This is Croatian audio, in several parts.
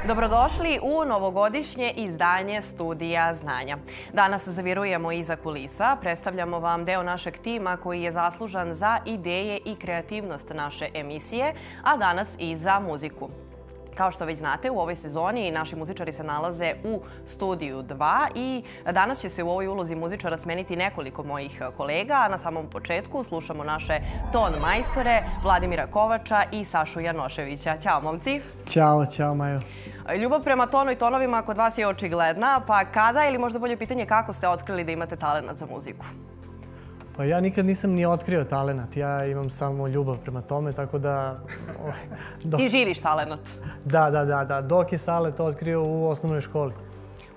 Dobrodošli u novogodišnje izdanje Studija znanja. Danas zavirujemo iza kulisa, predstavljamo vam deo našeg tima koji je zaslužan za ideje i kreativnost naše emisije, a danas i za muziku. Kao što već znate, u ovoj sezoni naši muzičari se nalaze u Studiju 2 i danas će se u ovoj ulozi muzičara smeniti nekoliko mojih kolega. A na samom početku slušamo naše ton majstore Vladimira Kovača i Sašu Janoševića. Ćao, momci! Ćao, Majo. Ljubav prema tonu i tonovima kod vas je očigledna, pa kada ili možda bolje pitanje kako ste otkrili da imate talenat za muziku? Pa ja nikad nisam ni otkrio talenat, ja imam samo ljubav prema tome, tako da... Ti živiš talenat? Da. Dok je Sale to otkrio u osnovnoj školi.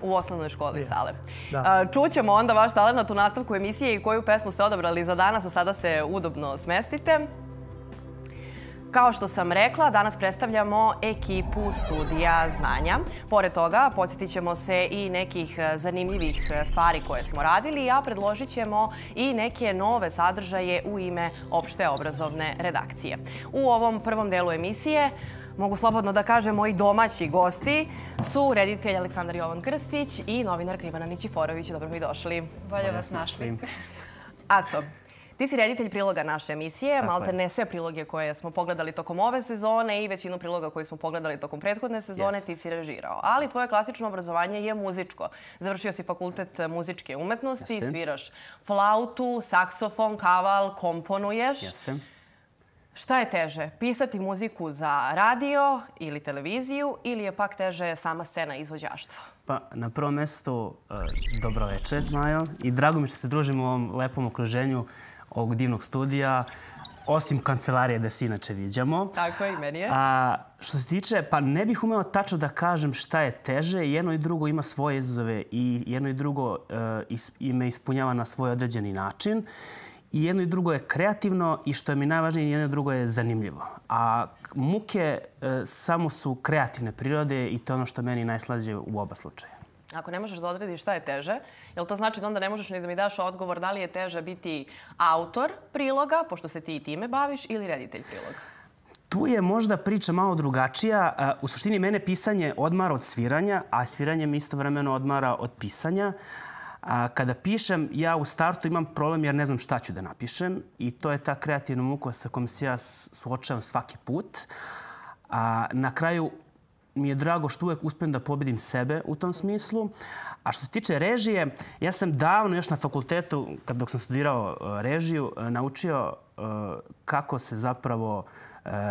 U osnovnoj školi, Sale. Da. Čućemo onda vaš talenat u nastavku emisije i koju pesmu ste odabrali za danas, a sada se udobno smestite. Kao što sam rekla, danas predstavljamo ekipu Studija znanja. Pored toga, podsjetit ćemo se i nekih zanimljivih stvari koje smo radili, a predložit ćemo i neke nove sadržaje u ime opšte obrazovne redakcije. U ovom prvom delu emisije, mogu slobodno da kažem, moji domaći gosti su reditelj Aleksandar Jovan Krstić i novinarka Ivana Nićiforović. Dobro mi došli. Bolje vas našli. Aco, ti si reditelj priloga naše emisije, malte ne sve priloge koje smo pogledali tokom ove sezone i većinu priloga koje smo pogledali tokom prethodne sezone ti si režirao. Ali tvoje klasično obrazovanje je muzičko. Završio si fakultet muzičke umetnosti, sviraš flautu, saksofon, kaval, komponuješ. Šta je teže, pisati muziku za radio ili televiziju ili je pak teže sama scena izvođaštva? Pa, na prvom mjestu, dobro večer, Majo. I drago mi što se družimo u ovom lepom okruženju ovog divnog studija, osim kancelarije da se inače viđamo. Tako je, i meni je. Što se tiče, pa ne bih umeo tačno da kažem šta je teže. Jedno i drugo ima svoje izazove i jedno i drugo me ispunjava na svoj određeni način. I jedno i drugo je kreativno i što je mi najvažnije, jedno i drugo je zanimljivo. A muke samo su kreativne prirode i to je ono što meni najslađe u oba slučaja. Ako ne možeš da odrediš šta je teže, jel to znači da onda ne možeš ni da mi daš odgovor da li je teže biti autor priloga, pošto se ti i time baviš, ili reditelj priloga? Tu je možda priča malo drugačija. U suštini mene pisanje odmara od sviranja, a sviranje mi istovremeno odmara od pisanja. Kada pišem, ja u startu imam problem jer ne znam šta ću da napišem i to je ta kreativna muka sa kojom se ja suočavam svaki put. Na kraju mi je drago što uvek uspem da pobedim sebe u tom smislu. A što se tiče režije, ja sam davno još na fakultetu, dok sam studirao režiju, naučio kako se zapravo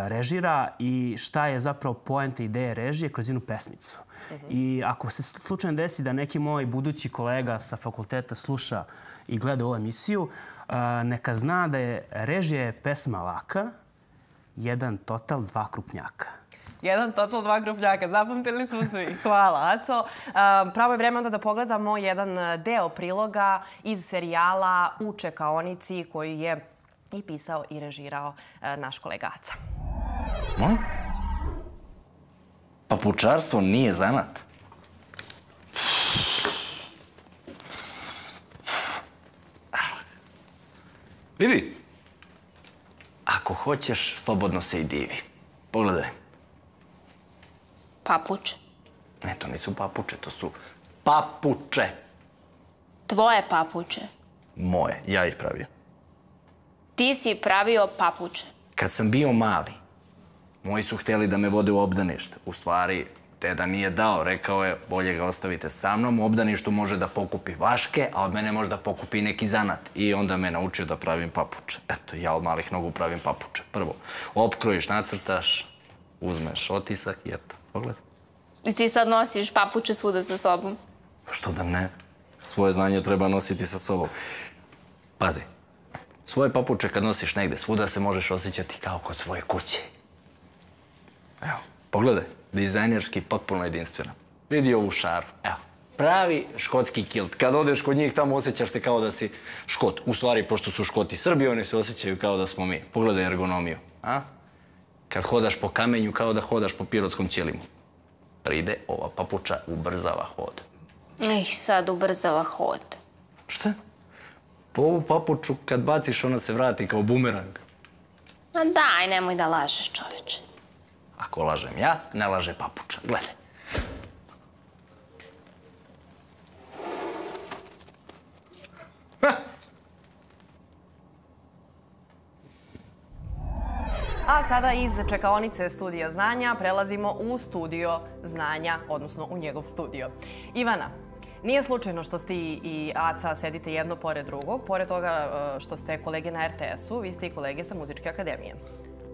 režira i šta je zapravo poenta ideje režije kroz jednu pesmicu. I ako se slučajno desi da neki moj budući kolega sa fakulteta sluša i gleda ovu emisiju, neka zna da je režija pesma laka, jedan total, dva krupnjaka. Jedan total, dva krupnjaka. Zapamtili smo svi. Hvala, Aco. Pravo je vreme onda da pogledamo jedan deo priloga iz serijala U čekaonici koji je i pisao i režirao naš kolega Aca. Papučarstvo nije zanat. Vidi, ako hoćeš, slobodno se i divi. Pogledaj. Papuče. Ne, to nisu papuče, to su papuče. Tvoje papuče. Moje, ja ih pravio. Ti si pravio papuče. Kad sam bio mali, moji su htjeli da me vode u obdanište. U stvari, deda nije dao, rekao je, bolje ga ostavite sa mnom, u obdaništu može da pokupi vaške, a od mene može da pokupi neki zanat. I onda me naučio da pravim papuče. Eto, ja od malih nogu pravim papuče. Prvo, opkrojiš, nacrtaš, uzmeš otisak i eto, pogledaj. I ti sad nosiš papuče svuda sa sobom? Što da ne? Svoje znanje treba nositi sa sobom. Pazi, svoje papuče kad nosiš negde, svuda se možeš osjećati kao kod svoje kuće. Evo, pogledaj, dizajnerski potpuno jedinstveno. Vidi ovu šaru, evo, pravi škotski kilt. Kad odeš kod njih tamo osjećaš se kao da si Škot. U stvari, pošto su Škoti Srbi, oni se osjećaju kao da smo mi. Pogledaj ergonomiju, a? Kad hodaš po kamenju, kao da hodaš po pirotskom ćelimu. Pride, ova papuča ubrzava hod. Sad ubrzava hod. Šta? Po ovu papuču kad baciš ona se vrati kao bumerang. Ma daj, nemoj da lažeš, čoveče. Ako lažem ja, ne laže papuča. Gledaj. sada iz čekaonice Studija znanja prelazimo u Studio znanja, odnosno u njegov studio. Ivana, nije slučajno što ti i Aca sedite jedno pored drugog. Pored toga što ste kolege na RTS-u, vi ste i kolege sa Muzičke akademije.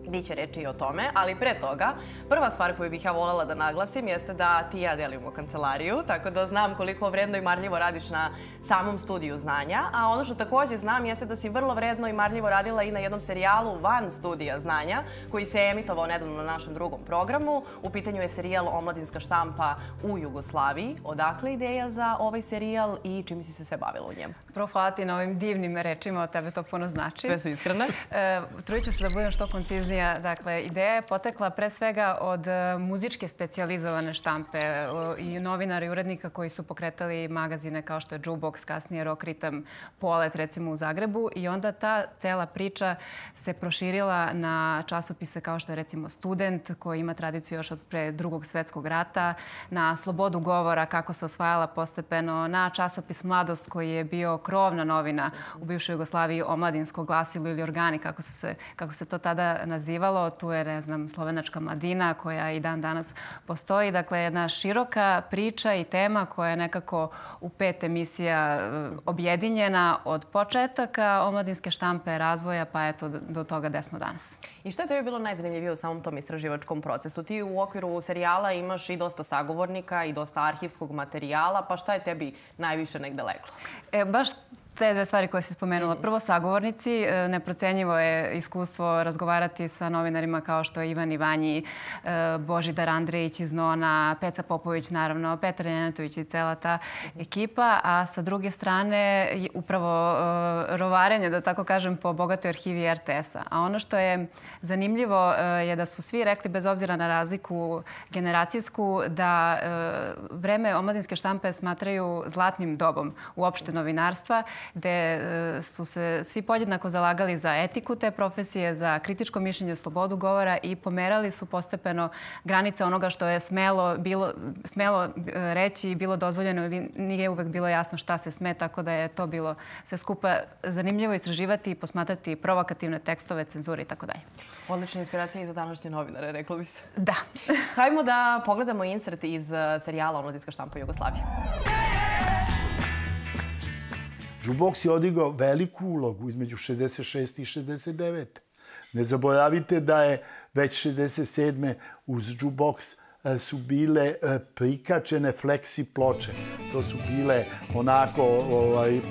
Biće reći i o tome, ali pre toga, prva stvar koju bih ja voljela da naglasim jeste da ti i ja delimo kancelariju, tako da znam koliko vredno i marljivo radiš na samom Studiju znanja, a ono što također znam jeste da si vrlo vredno i marljivo radila i na jednom serijalu van Studija znanja, koji se emitovao nedavno na našem drugom programu. U pitanju je serijal Omladinska štampa u Jugoslaviji. Odakle ideja za ovaj serijal i čime si se sve bavila u njemu? Prvo, hvala ti na ovim divnim rečima, od tebe to puno znači. Sve su iskrene. Trudit ću se da budem što konciznija. Dakle, ideja je potekla pre svega od muzičke specijalizovane štampe i novinara i urednika koji su pokretali magazine kao što je Jukebox, kasnije Rock Ritam, Polet, recimo u Zagrebu. I onda ta cela priča se proširila na časopise kao što je recimo Student, koji ima tradiciju još od pre Drugog svetskog rata, na Slobodu govora, kako se osvajala postepeno, na časopis Mladost, koji je bio krovna novina u bivšoj Jugoslaviji, omladinsko glasilo ili organi, kako se to tada nazivalo. Tu je, ne znam, Slovenačka mladina koja i dan danas postoji. Dakle, jedna široka priča i tema koja je nekako u 5 emisija objedinjena od početaka omladinske štampe, razvoja, pa eto do toga gde smo danas. I što je tebi bilo najzanimljivije u samom tom istraživačkom procesu? Ti u okviru serijala imaš i dosta sagovornika i dosta arhivskog materijala, pa šta je tebi najviše negde leglo? Baš te dve stvari koje si spomenula. Prvo, sagovornici. Neprocenjivo je iskustvo razgovarati sa novinarima kao što je Ivan Ivanji, Božidar Andrejić iz Nona, Peca Popović, naravno, Petar Nenetović i cela ta ekipa. A sa druge strane, upravo rovarenje, da tako kažem, po bogatoj arhivi RTS-a. A ono što je zanimljivo je da su svi rekli, bez obzira na razliku generacijsku, da vreme omladinske štampe smatraju zlatnim dobom uopšte novinarstva, gde su se svi podjednako zalagali za etiku te profesije, za kritičko mišljenje, slobodu govora i pomerali su postepeno granice onoga što je smelo reći i bilo dozvoljeno ili nije uvek bilo jasno šta se sme, tako da je to bilo sve skupa zanimljivo istraživati i posmatrati provokativne tekstove, cenzure i tako dalje. Odlična inspiracija i za današnje novinare, reklo bi se. Da. Hajmo da pogledamo insert iz serijala Omladinska štampa u Jugoslaviji. Jukebox je odigrao veliku ulogu između 66. i 69. Ne zaboravite da je već 67. uz Jukebox su bile prikačene fleksi ploče. To su bile onako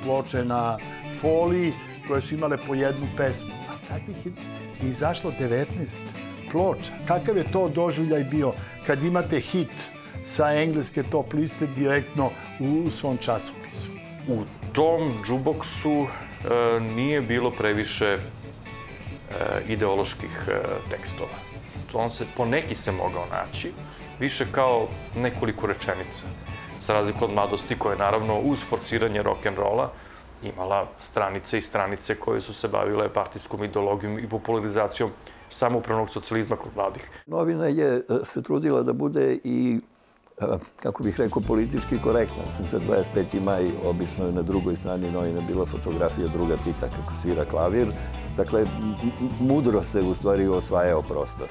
ploče na foliji koje su imale po jednu pesmu. A takvih je izašlo 19 ploča. Kakav je to doživljaj bio kad imate hit sa engleske top liste direktno u svom časopisu? U tom Jukeboxu nije bilo previše ideoloških tekstova. On se po neki se mogao naći, više kao nekoliko rečenica. Za razliku od Mladosti, koja je naravno uz forsiranje rock'n'rolla imala stranice i stranice koje su se bavile partijskom ideologijom i popularizacijom samoupravnog socijalizma kod mladih. Novina je se trudila da bude i, kako bih rekao, politički korektna. Za 25. maj obično je na drugoj strani novina bila fotografija druga Tita kako svira klavir. Dakle, mudro se u stvari osvajao prostor.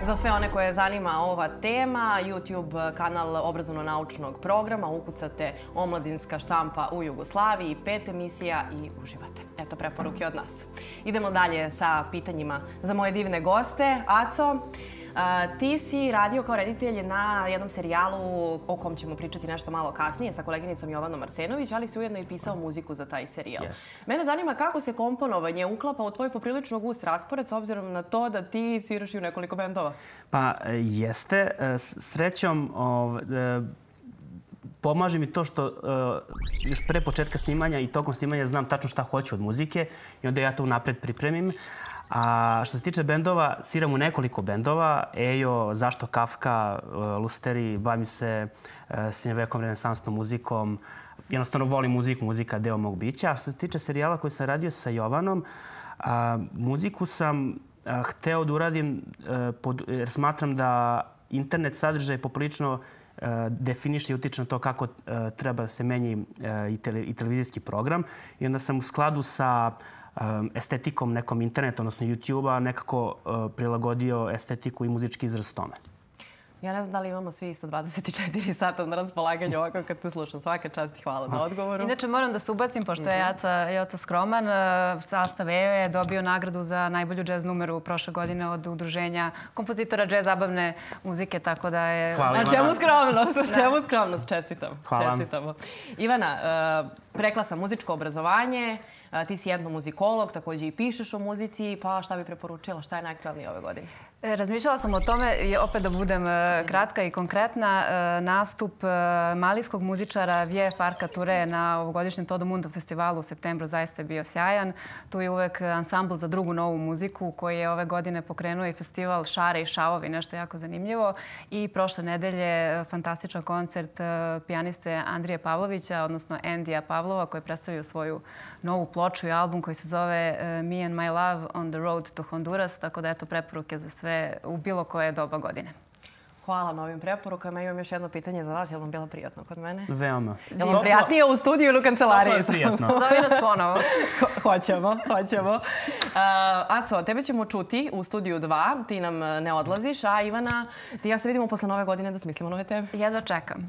Za sve one koje zanima ova tema, YouTube kanal obrazovno-naučnog programa, ukucate Omladinska štampa u Jugoslaviji, 5 emisija i uživate. Eto preporuke od nas. Idemo dalje sa pitanjima za moje divne goste. Aco, ti si radio kao reditelj na jednom serijalu o kom ćemo pričati nešto malo kasnije sa koleginicom Jovanom Arsenović, ali si ujedno i pisao muziku za taj serijal. Mene zanima kako se komponovanje uklapa u tvoj poprilično gust raspored s obzirom na to da ti sviraš i u nekoliko bendova. Pa jeste. Srećom, pomaže mi to što još pre početka snimanja i tokom snimanja znam tačno šta hoću od muzike i onda ja to unapred pripremim. A što se tiče bendova, sviram u nekoliko bendova. Ejo, Zašto Kafka, Lusteri, bavim se srednjovekovnom renesansnom muzikom, jednostavno volim muziku, muzika je deo mog bića. A što se tiče serijala koji sam radio sa Jovanom, muziku sam hteo da uradim jer smatram da internet sadržaj poprilično definiše i utiče na to kako treba da se menji i televizijski program. I onda sam u skladu sa estetikom nekom interneta, odnosno YouTube-a, nekako prilagodio estetiku i muzički izraz tome. Ja ne znam da li imamo svi isto 24 sata na raspolaganju ovako kad te slušam. Svaka čast i hvala na odgovoru. Inače, moram da se ubacim, pošto je Joca skroman. Sastav EO je dobio nagradu za najbolju džez numeru prošle godine od udruženja kompozitora džez zabavne muzike, tako da je... Hvala, Ivana. Čemu skromnost? Čemu skromnost? Čestitam. Hvala. Čestitamo. Ivana, rekla sam muzičko obrazovanje, ti si etnomuzikolog, također i pišeš o muzici, pa šta bi preporučila? Šta je najaktualnije ove godine? Razmišljala sam o tome, opet da budem kratka i konkretna, nastup malijskog muzičara Vie Farka Ture na ovogodišnjem Todo Mundo festivalu u septembru zaista je bio sjajan. Tu je uvek ansambl za drugu novu muziku koji je ove godine pokrenuo i festival Šare i šavovi, nešto jako zanimljivo. I prošle nedelje fantastičan koncert pijaniste Andrije Pavlovića, odnosno Andija Pavlova, koji predstavio svoju novu ploču i album koji se zove Me and My Love on the Road to Honduras, tako da eto preporuke za sve u bilo koje doba godine. Hvala na ovim preporukama. Imam još jedno pitanje za vas. Je li vam bilo prijatno kod mene? Veoma. Je li vam prijatnije u studiju ili u kancelariji? To je prijatno. Zovi nas ponovo. Hoćemo. Aco, tebe ćemo čuti u studiju 2. Ti nam ne odlaziš, a Ivana, ti ja se vidimo posle nove godine da smislimo nove teme. Jedva čekam.